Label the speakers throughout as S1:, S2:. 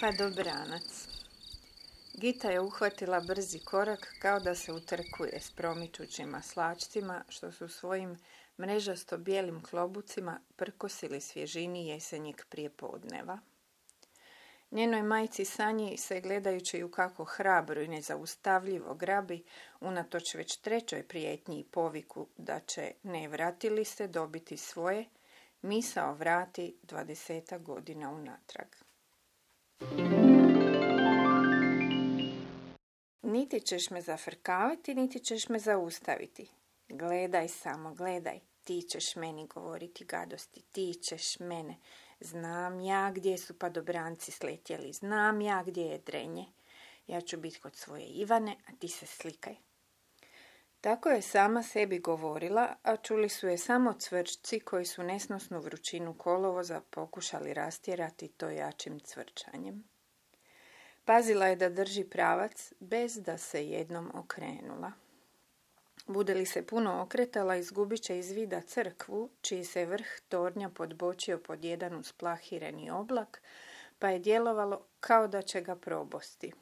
S1: Padobranac. Gita je uhvatila brzi korak kao da se utrkuje s promičućim maslačcima što su svojim mrežasto bijelim klobucima prkosili svježini jesenjeg prijepodneva. Njenoj majci Sanji se, gledajući ju kako hrabro i nezaustavljivo grabi, unatoč već trećoj prijetnji i poviku da će ne vratili se dobiti svoje, misao vrati 20 godina unatrag. Niti ćeš me zafrkavati, niti ćeš me zaustaviti. Gledaj samo, gledaj. Ti ćeš meni govoriti gadosti, ti ćeš mene. Znam ja gdje su padobranci sletjeli, znam ja gdje je drenje. Ja ću biti kod svoje Ivane, a ti se slikaj. Tako je sama sebi govorila, a čuli su je samo cvrčci koji su nesnosnu vrućinu kolovoza pokušali rastjerati to jačim cvrčanjem. Pazila je da drži pravac bez da se jednom okrenula. Bude li se puno okretala, izgubit će iz vida crkvu, čiji se vrh tornja podbočio pod jedan usplahireni oblak, pa je djelovalo kao da će ga probosti.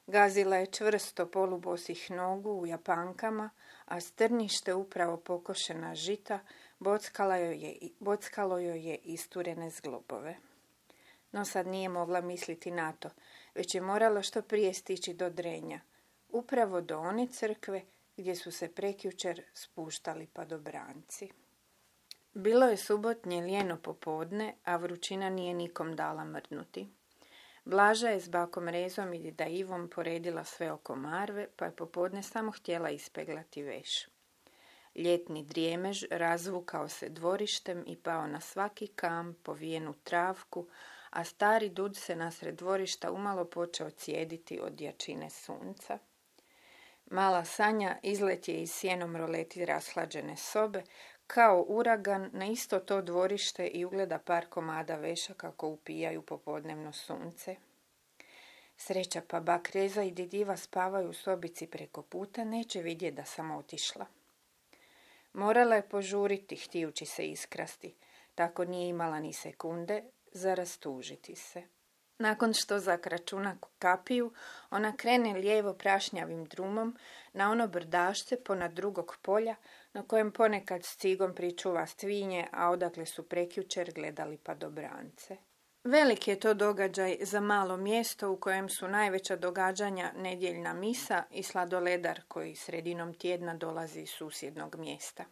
S1: Gazila je čvrsto polubosih nogu u japankama, a strnište upravo pokošena žita bockalo joj je isturene zglobove. No sad nije mogla misliti na to, već je morala što prije stići do drenja, upravo do one crkve gdje su se prekjučer spuštali padobranci. Bilo je subotnje lijeno popodne, a vrućina nije nikom dala mrdnuti. Blaža je s bakom Rezom i da Ivom poredila sve oko marve, pa je popodne samo htjela ispeglati veš. Ljetni drijemež razvukao se dvorištem i pao na svaki kam, povijenu travku, a stari dud se nasred dvorišta umalo počeo cijediti od jačine sunca. Mala Sanja izlet je iz sjenom roleti rashlađene sobe, kao uragan na isto to dvorište i ugleda par komada veša kako upijaju popodnevno sunce. Sreća pa bak Reza i Didiva spavaju u sobici preko puta, neće vidjeti da sam otišla. Morala je požuriti, htijući se iskrasti, tako nije imala ni sekunde za rastužiti se. Nakon što zakračuna kapiju, ona krene lijevo prašnjavim drumom na ono brdašce ponad drugog polja, na kojem ponekad s cigom pričuva stvinje, a odakle su prekjučer gledali padobrance. Velik je to događaj za malo mjesto u kojem su najveća događanja nedjeljna misa i sladoledar koji sredinom tjedna dolazi iz susjednog mjesta.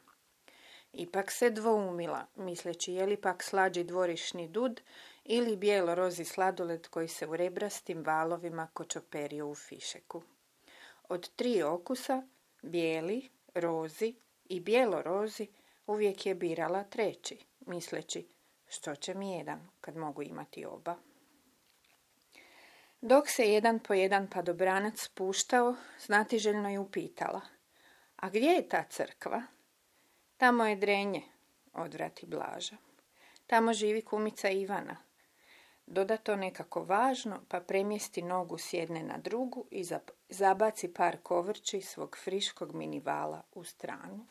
S1: Ipak se dvoumila, misleći je li pak slađi dvorišni dud ili bijelo-rozi sladoled koji se u rebrastim valovima kočoperio u fišeku. Od 3 okusa, bijeli, rozi i bijelo-rozi, uvijek je birala treći, misleći što će mi jedan kad mogu imati oba. Dok se jedan po jedan padobranac spuštao, znatiželjno je upitala: a gdje je ta crkva? Tamo je drenje, odvrati Blaža. Tamo živi kumica Ivana. Doda to nekako važno, pa premjesti nogu s jedne na drugu i zabaci par kovrči svog friškog minivala u stranu.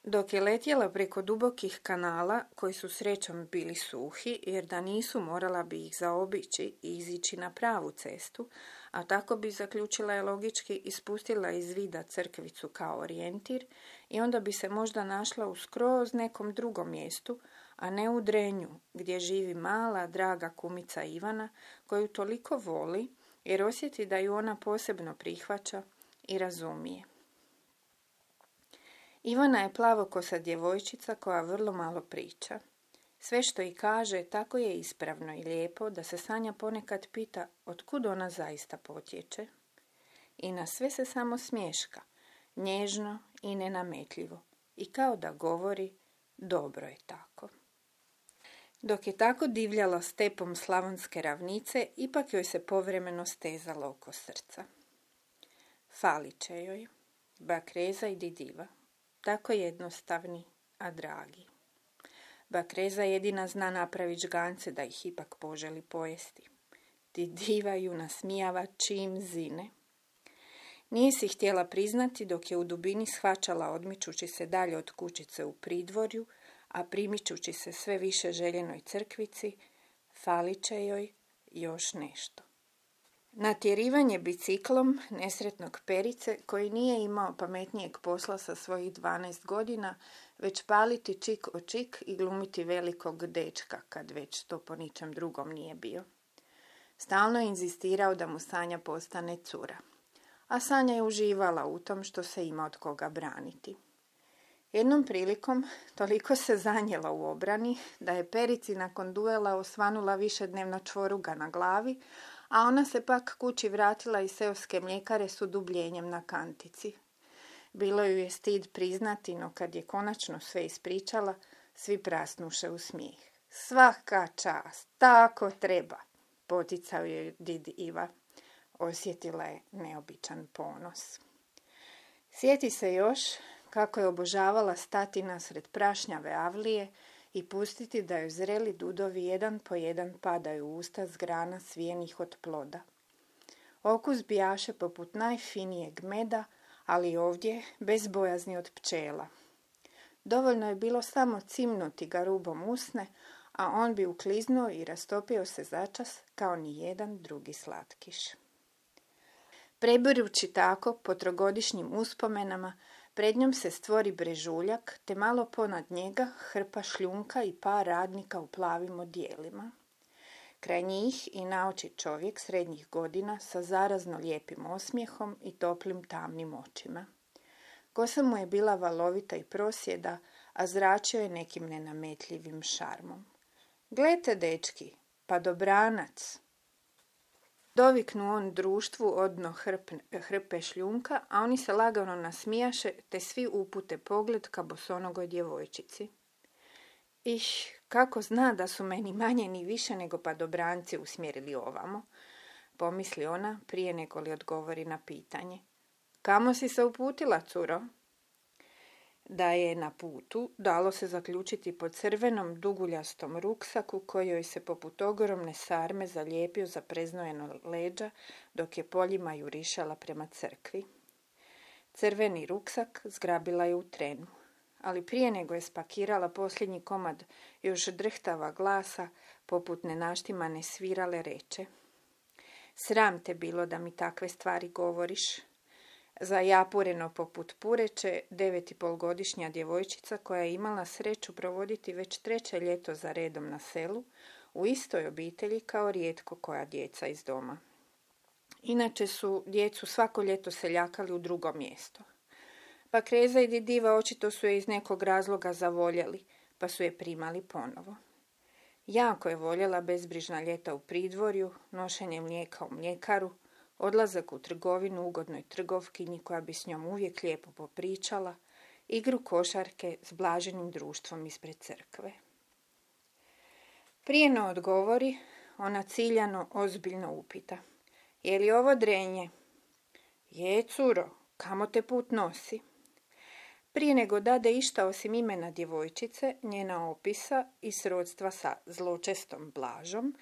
S1: Dok je letjela preko dubokih kanala, koji su srećom bili suhi, jer da nisu morala bi ih zaobići i izići na pravu cestu, a tako bi, zaključila je logički, ispustila iz vida crkvicu kao orijentir i onda bi se možda našla u skroz nekom drugom mjestu, a ne u drenju, gdje živi mala, draga kumica Ivana, koju toliko voli jer osjeti da ju ona posebno prihvaća i razumije. Ivana je plavokosa djevojčica koja vrlo malo priča. Sve što i kaže tako je ispravno i lijepo da se Sanja ponekad pita otkud ona zaista potječe. I na sve se samo smješka, nježno i nenametljivo, i kao da govori dobro je tako. Dok je tako divljala stepom slavonske ravnice, ipak joj se povremeno stezalo oko srca. Falit će joj bak Reza i Didiva, tako jednostavni, a dragi. Bak Reza jedina zna napraviti žgance da ih ipak poželi pojesti. Didiva ju nasmijava čim zine. Nije si htjela priznati dok je u dubini shvaćala odmičući se dalje od kućice u pridvorju, a primičući se sve više željenoj crkvici, falit će joj još nešto. Natjerivanje biciklom nesretnog Perice, koji nije imao pametnijeg posla sa svojih 12 godina, već paliti čik o čik i glumiti velikog dečka, kad već to po ničem drugom nije bio. Stalno je inzistirao da mu Sanja postane cura, a Sanja je uživala u tom što se ima od koga braniti. Jednom prilikom toliko se zanijela u obrani da je Perici nakon duela osvanula višednevna čvoruga na glavi, a ona se pak kući vratila iz seoske mljekare s udubljenjem na kantici. Bilo ju je stid priznati, no kad je konačno sve ispričala, svi prasnuše u smijeh. Svaka čast, tako treba, poticao je did Iva. Osjetila je neobičan ponos. Sjeti se još kako je obožavala stati nasred prašnjave avlije i pustiti da joj zreli dudovi jedan po jedan padaju u usta s grana svijenih od ploda. Okus bijaše poput najfinijeg meda, ali ovdje bez bojazni od pčela. Dovoljno je bilo samo cimnuti ga rubom usne, a on bi ukliznuo i rastopio se začas kao ni jedan drugi slatkiš. Prebirući tako po trogodišnjim uspomenama, pred njom se stvori brežuljak, te malo ponad njega hrpa šljunka i par radnika u plavim odijelima. Kraj njih i naoči čovjek srednjih godina sa zarazno lijepim osmijehom i toplim tamnim očima. Kosa mu je bila valovita i prosjeda, a zračio je nekim nenametljivim šarmom. Glete, dečki, pa dobranac! Doviknu on društvu odno hrpe šljunka, a oni se lagano nasmijaše, te svi upute pogled ka bosonogoj djevojčici. Kako zna da su meni manje ni više nego padobranci usmjerili ovamo, pomisli ona prije nego li odgovori na pitanje. Kamo si se uputila, curo? Da je na putu, dalo se zaključiti po crvenom duguljastom ruksaku koji joj se poput ogromne sarme zalijepio za preznojeno leđa dok je poljima jurišala prema crkvi. Crveni ruksak zgrabila je u trenu, ali prije nego je spakirala posljednji komad još drhtava glasa poput nenaštimane svirale reče. Sram te bilo da mi takve stvari govoriš. Zajapureno poput pureće, 9,5-godišnja djevojčica koja je imala sreću provoditi već 3. ljeto za redom na selu, u istoj obitelji kao rijetko koja djeca iz doma. Inače su djecu svako ljeto seljakali u drugo mjesto. Pa Kreza i Didiva očito su je iz nekog razloga zavoljeli, pa su je primali ponovo. Jako je voljela bezbrižna ljeta u pridvorju, nošenje mlijeka u mljekaru, odlazak u trgovinu ugodnoj trgovkinji koja bi s njom uvijek lijepo popričala, igru košarke s blaženim društvom ispred crkve. Prije no odgovori, ona ciljano ozbiljno upita. Je li ovo drenje? Je, curo, kamo te put nosi? Prije nego dade išta osim imena djevojčice, njena opisa i srodstva sa zločestom Blažom,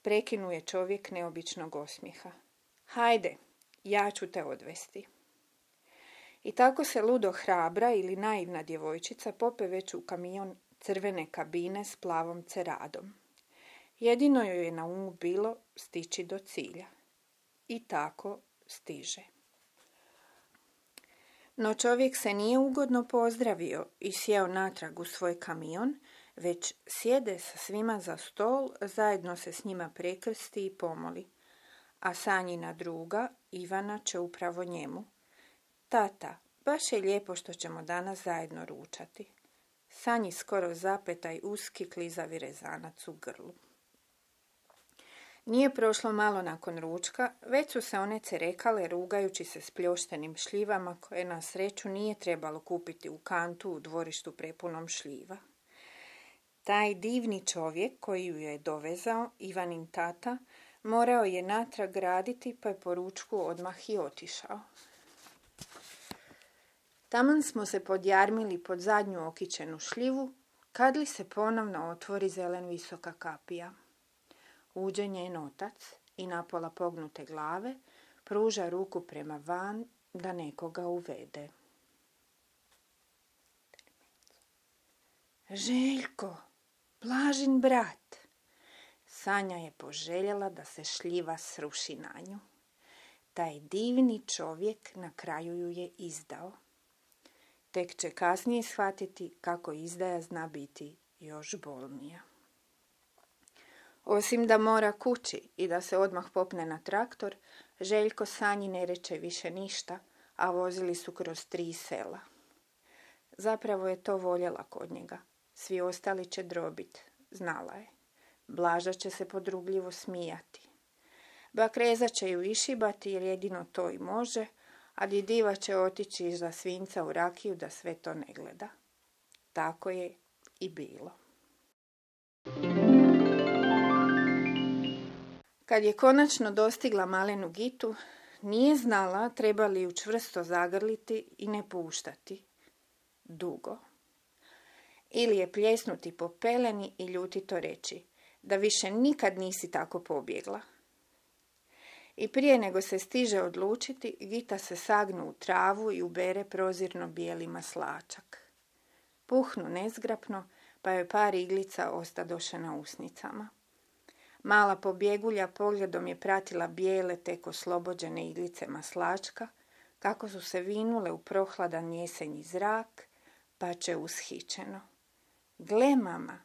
S1: prekinuje čovjek neobičnog osmijeha. Hajde, ja ću te odvesti. I tako se ludo hrabra ili naivna djevojčica pope već u kamion crvene kabine s plavom ceradom. Jedino joj je na umu bilo stići do cilja. I tako stiže. No čovjek se nije ugodno pozdravio i sjeo natrag u svoj kamion, već sjede sa svima za stol, zajedno se s njima prekrsti i pomoli. A Sanjina druga, Ivana, će upravo njemu. Tata, baš je lijepo što ćemo danas zajedno ručati. Sanji skoro zapetaj uski klizavi rezanac u grlu. Nije prošlo malo nakon ručka, već su se one cerekale rugajući se s pljoštenim šljivama koje na sreću nije trebalo kupiti u kantu u dvorištu prepunom šljiva. Taj divni čovjek koji ju je dovezao, Ivanin tata, morao je natrag raditi pa je po ručku odmah i otišao. Taman smo se podjarmili pod zadnju okićenu šljivu, kad li se ponovno otvori zelen visoka kapija. Uđe njen otac i napola pognute glave pruža ruku prema van da nekoga uvede. Željko, Blažin brat. Sanja je poželjela da se šljiva sruši na nju. Taj divni čovjek na kraju ju je izdao. Tek će kasnije shvatiti kako izdaja zna biti još bolnija. Osim da mora kući i da se odmah popne na traktor, Željko Sanji ne reče više ništa, a vozili su kroz 3 sela. Zapravo je to voljela kod njega. Svi ostali će drobit, znala je. Blaža će se podrugljivo smijati. Bak Reza će ju išibati jer jedino to i može, a Diva će otići iza svinca u rakiju da sve to ne gleda. Tako je i bilo. Kad je konačno dostigla malenu Gitu, nije znala treba li ju čvrsto zagrliti i ne puštati. Dugo. Ili je pljesnuti po peleni i ljutito reći da više nikad nisi tako pobjegla. I prije nego se stiže odlučiti, Gita se sagnu u travu i ubere prozirno bijeli maslačak. Puhnu nezgrapno, pa joj par iglica ostadoše na usnicama. Mala pobjegulja pogledom je pratila bijele, tek oslobođene iglice maslačka, kako su se vinule u prohladan jesenji zrak, pa će ushićeno. Gle, mama,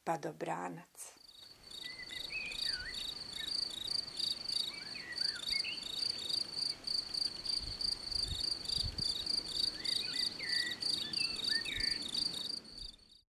S1: pa dobranac.